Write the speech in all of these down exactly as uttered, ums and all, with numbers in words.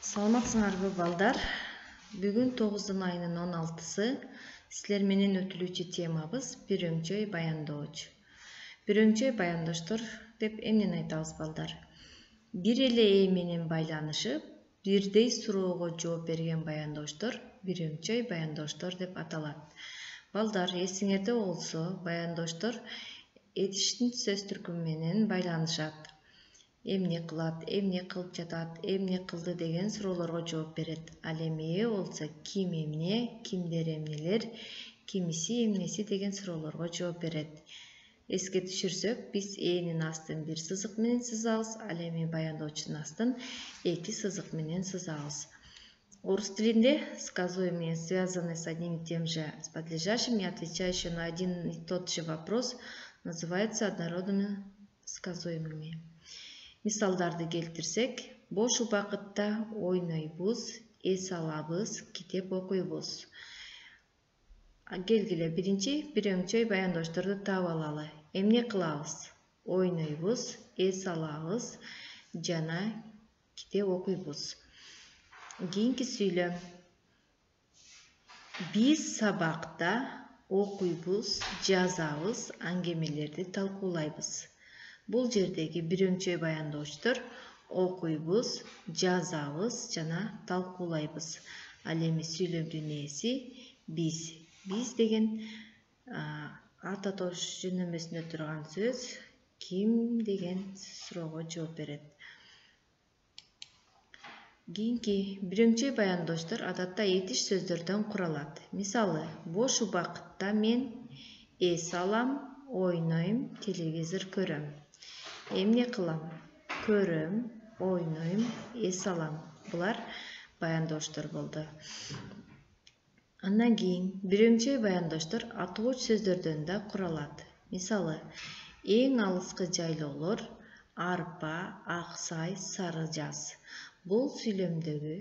Саламатсыңарбы балдар? Бүгүн тогуздун айынын он алтысы силер менен өтүлүүчү темабыз бирөңчөй баяндоочу. Бирөңчөй баяндоштор деп эмнени айтабыз балдар? Бир эле ээ менен байланышып, бирдей суроого жооп берген баяндоштор бирөңчөй баяндоштор деп аталат. Балдар, эсиңерде болсо, баяндоштор этиштин сөз түркүмү менен байланышат. Эмне кылат, эмне кылып жатат, эмне кылды деген суроолорго жооп берет. Ал эми ээ болсо ким эмне, кимдер эмнелер, кимиси эмнеси деген суроолорго жооп берет. Эске түшүрсөк, биз ээнин астын бир сызык менен сызабыз, ал эми баяндоочунун астын эки сызык менен сызабыз. Орус тилинде сказуемые, связанные с одним и тем же подлежащим и отвечающие на один и тот же вопрос, называются однородными сказуемыми. Мисалдарды келтирсек, бош убакытта ойнойбуз, эс алабыз, китеп окуйбуз. Келгиле, биринчи бирөңчөй баяндошторду таап алалы. Эмне кылабыз? Ойнойбуз, эс алабыз жана китеп окуйбуз. Кийинки сүйлөм. Биз сабакта окуйбуз, жазабыз, аңгемелерди талкуулайбыз. Бул жердеги бирөңчөй баяндоочтор окуйбуз, жазабыз жана талкуулайбыз. Ал эми сүйлөмдүн ээси биз. Биз деген ат атош жөнөмөсүндө турган сөз ким деген суроого жооп берет. Кийинки бирөңчөй баяндоштор адатта этиш сөздөрдөн куралат. Мисалы, бош убакытта мен эс алам, ойнойм, телевизор көрөм. Эмне кылам? Көрөм, ойнойм, эс алам. Булар баяндоштор болду. Андан кийин бирөңчөй баяндоштор атооч сөздөрдөн да куралат. Мисалы, эң алыскы жайлоолор арпа, аксай, сары жаз. Бул сүйлөмдөгү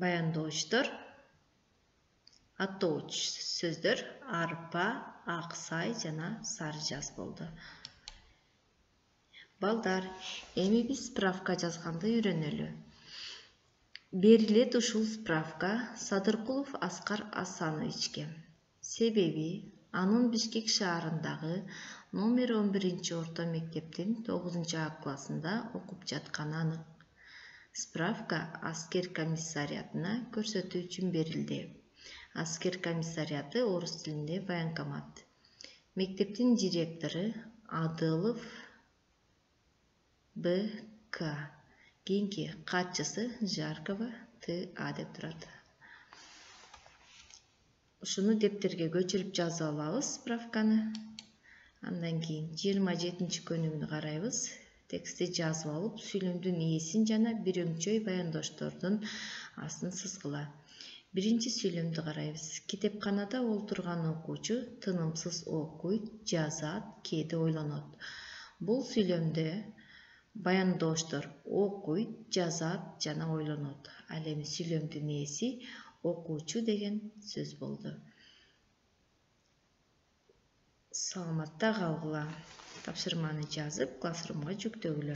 баяндоочтор атооч сөздөр арпа, аксай жана сары жаз болду. Балдар, эми биз справка жазганды үйрөнөлү. Берилет ушул справка Садыркулов Аскар Асановичке. Себеби анын Бишкек шаарындагы номер он биринчи орто мектептин тогузунчу А классында окуп жатканы анык. Справка аскер комиссариатына көрсөтүү үчүн берилди. Аскер комиссариаты орус тилинде военкомат. Мектептин директору Адылов Б К. Кийинки катчысы Жаркова Т А деп турат. Ушуну дептерге көчүрүп жазып алабыз справканы. Андан кийин жыйырма жетинчи көнүмдү карайбыз. Текстти жазып алып, сүйлөмдүн ээсин жана бирөңчөй баяндоштордун астын сызгыла. Биринчи сүйлөмдү карайбыз. Китепканада олтурган окуучу тынымсыз окуйт, жазат, кээде ойлонот. Бул сүйлөмдө баяндоштор окуйт, жазат жана ойлонот. Ал эми сүйлөмдүн ээси окуучу деген сөз болду. Саламатта калгыла. Тапшырманы жазып, классрумга жүктөгүлө.